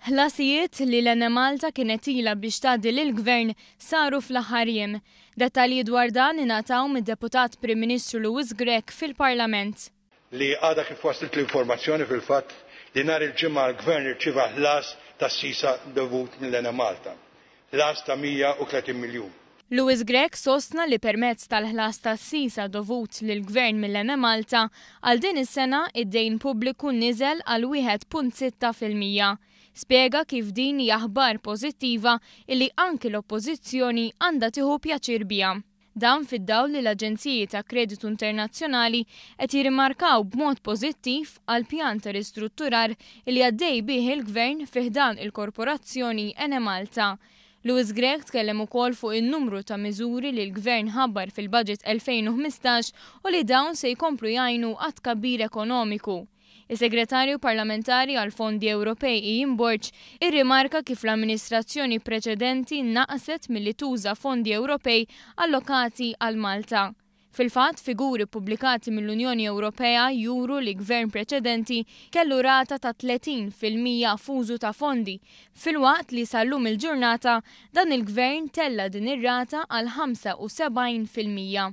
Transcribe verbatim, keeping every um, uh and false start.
Ħlasijiet li l-Enemalta kienet ilha biex tgħaddi lill-Gvern saru fl-aħħar jiem. Dettalji dwar dan ingħataw mid-Deputat Prim Ministru Louis Grech fil-Parlament. Li għadha kif waslet l-informazzjoni fil-fatt li nhar il-Ġimgħa l-Gvern irċieva ħlas tas-sisa dovut mill-Enemalta. Ħlas ta' mija u tletin miljun. Louis Grech sostna li permezz tal-ħlas tas-sisa dovut lill-Gvern mill-Enemalta għal din is-sena, id-dejn pubbliku niżel għal wieħed punt sitta fil-mija. Spjega kif din hija aħbar pożittiva illi anki l-Oppożizzjoni għandha tieħu pjaċir biha. Dan fid-dawl li l-Aġenziji ta' Kreditu Internazzjonali qed jirrimarkaw b'mod pożittiv għal pjan ta' ristrutturar li għaddej bih il-Gvern fi ħdan il-Korporazzjoni Enemalta. Louis Grech tkellem ukoll fuq in-numru ta' miżuri li l-Gvern ħabbar fil-Budget elfejn u ħmistax u li dawn se jkomplu jgħinu għat-tkabbir ekonomiku. Is-Segretarju Parlamentari għal Fondi Ewropej Ian Borg irrimarka kif l-amministrazzjoni preċedenti naqset milli tuża fondi Ewropej allokati għal Malta. Fil-fatt, figuri pubblikati mill-Unjoni Ewropea juru li gvern preċedenti kellu rata ta' tletin fil-mija f'użu ta' fondi, filwaqt li sal-lum il-ġurnata dan il-gvern tella din ir-rata għal ħamsa u sebgħin fil-mija.